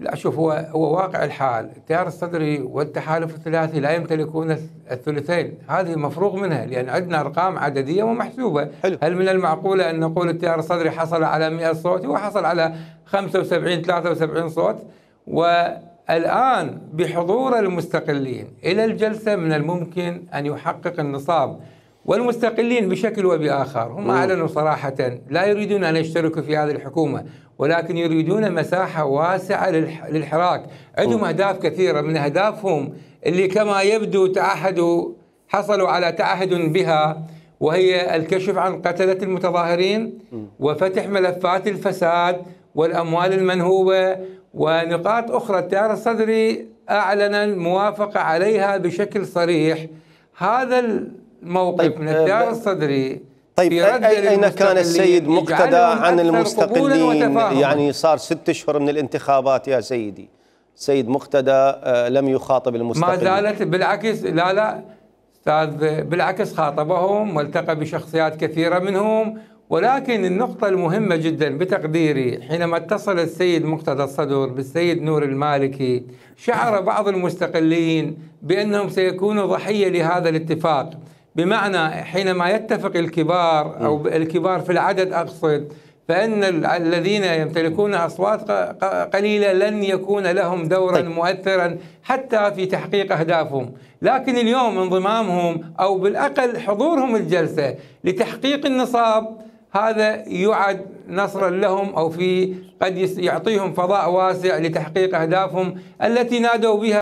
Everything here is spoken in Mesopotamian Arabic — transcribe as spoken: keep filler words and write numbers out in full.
لا شوف، هو هو واقع الحال التيار الصدري والتحالف الثلاثي لا يمتلكون الثلثين، هذه مفروغ منها لأن عندنا أرقام عددية ومحسوبة. حلو. هل من المعقولة أن نقول التيار الصدري حصل على مئة صوت؟ هو حصل على خمسة وسبعين ثلاثة وسبعين صوت، والآن بحضور المستقلين إلى الجلسة من الممكن أن يحقق النصاب. والمستقلين بشكل وبآخر هم أعلنوا صراحة لا يريدون أن يشتركوا في هذه الحكومة، ولكن يريدون مساحة واسعة للحراك. عندهم أهداف كثيرة، من أهدافهم اللي كما يبدو تعهدوا حصلوا على تعهد بها، وهي الكشف عن قتلة المتظاهرين وفتح ملفات الفساد والأموال المنهوبة ونقاط أخرى. التيار الصدري أعلن الموافقة عليها بشكل صريح. هذا الموقف طيب من التيار الصدري طيب أين كان السيد مقتدى عن المستقلين؟ يعني صار ست أشهر من الانتخابات يا سيدي، السيد مقتدى لم يخاطب المستقلين. ما زالت بالعكس، لا لا أستاذ، بالعكس خاطبهم والتقى بشخصيات كثيرة منهم. ولكن النقطة المهمة جدا بتقديري حينما اتصل السيد مقتدى الصدر بالسيد نور المالكي، شعر بعض المستقلين بأنهم سيكونوا ضحية لهذا الاتفاق. بمعنى حينما يتفق الكبار أو الكبار في العدد أقصد، فإن الذين يمتلكون أصوات قليلة لن يكون لهم دورا طيب. مؤثرا حتى في تحقيق أهدافهم. لكن اليوم انضمامهم أو بالأقل حضورهم الجلسة لتحقيق النصاب، هذا يعد نصرا لهم، أو في قد يعطيهم فضاء واسع لتحقيق أهدافهم التي نادوا بها.